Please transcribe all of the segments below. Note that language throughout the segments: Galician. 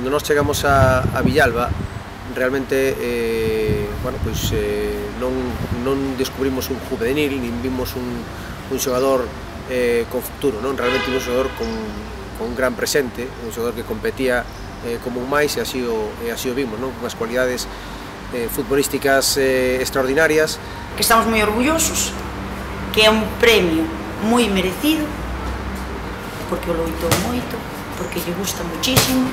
Cando nós chegamos a Villalba, realmente non descubrimos un juvenil, nin vimos un xogador con futuro, realmente un xogador con un gran presente, un xogador que competía como un máis, e así o vimos, unhas cualidades futbolísticas extraordinarias. Que estamos moi orgullosos, que é un premio moi merecido, porque o loitou moito, porque lle gusta muchísimo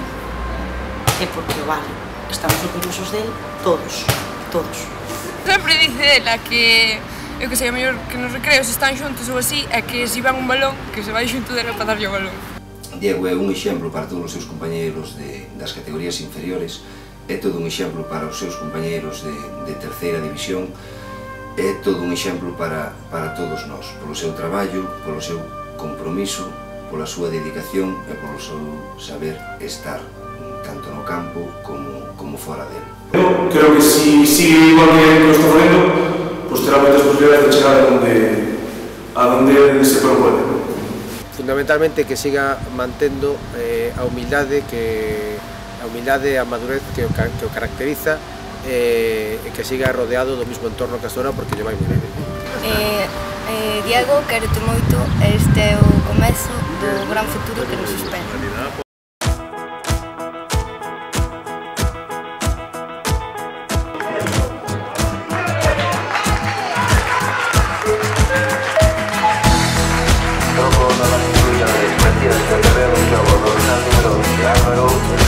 e porque o vale. Estamos orgullosos del todos. Sempre dice ela que, eu que sei, a mellor que nos recreos están xuntos ou así, é que se van un balón, que se vai xunto dela para darlle o balón. Diego é un exemplo para todos os seus compañeiros das categorías inferiores, é todo un exemplo para os seus compañeiros de terceira división, é todo un exemplo para todos nós, polo seu traballo, polo seu compromiso, pola súa dedicación e polo seu saber estar, tanto no campo como fora dele. Creo que si sigue igual que lo está facendo, pues terá moitas posibilidades de chegar a donde se propone. Fundamentalmente que siga mantendo a humildade e a madurez que o caracteriza, e que siga rodeado do mismo entorno que hasta ahora, porque lle vai moi ben. Diego, quérote moito, este é o comezo do gran futuro que nos espera.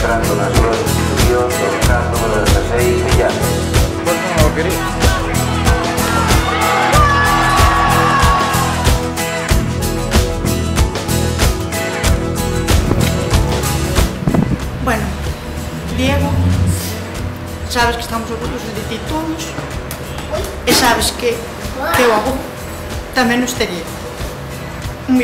Entrando na súa institución, dominando número 16, Villar. Pois non o quería. Bueno, Diego, sabes que estamos orgullosos de ti todos e sabes que o avó tamén nos tería. Un